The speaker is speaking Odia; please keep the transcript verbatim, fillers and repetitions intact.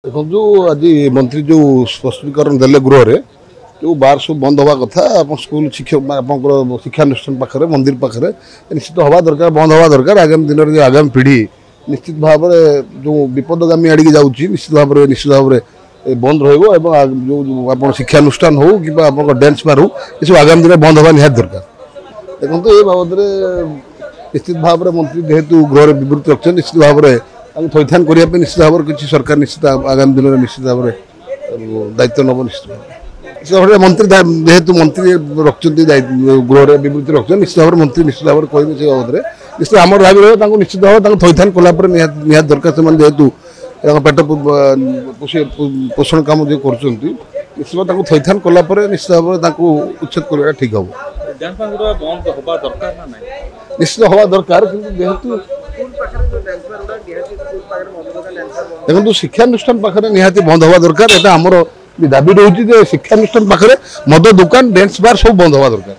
ଦେଖନ୍ତୁ, ଆଜି ମନ୍ତ୍ରୀ ଯେଉଁ ସ୍ପଷ୍ଟୀକରଣ ଦେଲେ ଗୃହରେ, ଯେଉଁ ବାର ସବୁ ବନ୍ଦ ହେବା କଥା, ଆପଣ ସ୍କୁଲ ଶିକ୍ଷକ ଆପଣଙ୍କର ଶିକ୍ଷାନୁଷ୍ଠାନ ପାଖରେ, ମନ୍ଦିର ପାଖରେ ନିଶ୍ଚିତ ହେବା ଦରକାର, ବନ୍ଦ ହେବା ଦରକାର। ଆଗାମୀ ଦିନରେ ଯେଉଁ ଆଗାମୀ ପିଢ଼ି ନିଶ୍ଚିତ ଭାବରେ ଯେଉଁ ବିପଦଗାମୀ ଆଡ଼ିକି ଯାଉଛି, ନିଶ୍ଚିତ ଭାବରେ ନିଶ୍ଚିତ ଭାବରେ ବନ୍ଦ ରହିବ। ଏବଂ ଯେଉଁ ଆପଣ ଶିକ୍ଷାନୁଷ୍ଠାନ ହେଉ କିମ୍ବା ଆପଣଙ୍କ ଡ୍ୟାନ୍ସ ବାର ହେଉ, ଏସବୁ ଆଗାମୀ ଦିନରେ ବନ୍ଦ ହେବା ନିହାତି ଦରକାର। ଦେଖନ୍ତୁ, ଏ ବାବଦରେ ନିଶ୍ଚିତ ଭାବରେ ମନ୍ତ୍ରୀ ଯେହେତୁ ଗୃହରେ ବିବୃତ୍ତି ରଖିଛନ୍ତି, ନିଶ୍ଚିତ ଭାବରେ ତାଙ୍କୁ ଥଇଥାନ କରିବା ପାଇଁ ନିଶ୍ଚିତ ଭାବରେ କିଛି ସରକାର ନିଶ୍ଚିତ ଆଗାମୀ ଦିନରେ ନିଶ୍ଚିତ ଭାବରେ ଦାୟିତ୍ୱ ନେବ। ନିଶ୍ଚିତ ଭାବରେ ନିଶ୍ଚିତ ଭାବରେ ମନ୍ତ୍ରୀ ଯେହେତୁ ମନ୍ତ୍ରୀ ରଖିଛନ୍ତି, ଗୃହରେ ବିବୃତ୍ତି ରଖିଛନ୍ତି, ନିଶ୍ଚିତ ଭାବରେ ମନ୍ତ୍ରୀ ନିଶ୍ଚିତ ଭାବରେ କହିବେ ସେ ବାବଦରେ। ନିଶ୍ଚିତ ଆମର ଦାବି ରହିବ, ତାଙ୍କୁ ନିଶ୍ଚିତ ଭାବରେ ତାଙ୍କୁ ଥଇଥାନ କଲା ପରେ ନିହାତି ନିହାତି ଦରକାର। ସେମାନେ ଯେହେତୁ ତାଙ୍କ ପେଟ ପୋଷଣ କାମ ଯେଉଁ କରୁଛନ୍ତି, ନିଶ୍ଚିତ ତାଙ୍କୁ ଥଇଥାନ କଲା ପରେ ନିଶ୍ଚିତ ଭାବରେ ତାଙ୍କୁ ଉଚ୍ଛେଦ କରିବାଟା ଠିକ୍ ହେବ। ନିଶ୍ଚିତ ହେବା ଦରକାର, କିନ୍ତୁ ଯେହେତୁ ଦେଖନ୍ତୁ, ଶିକ୍ଷାନୁଷ୍ଠାନ ପାଖରେ ନିହାତି ବନ୍ଦ ହେବା ଦରକାର। ଏଟା ଆମର ଦାବି ରହୁଛି ଯେ ଶିକ୍ଷାନୁଷ୍ଠାନ ପାଖରେ ମଦ ଦୋକାନ, ଡ୍ୟାନ୍ସ ବାର ସବୁ ବନ୍ଦ ହେବା ଦରକାର।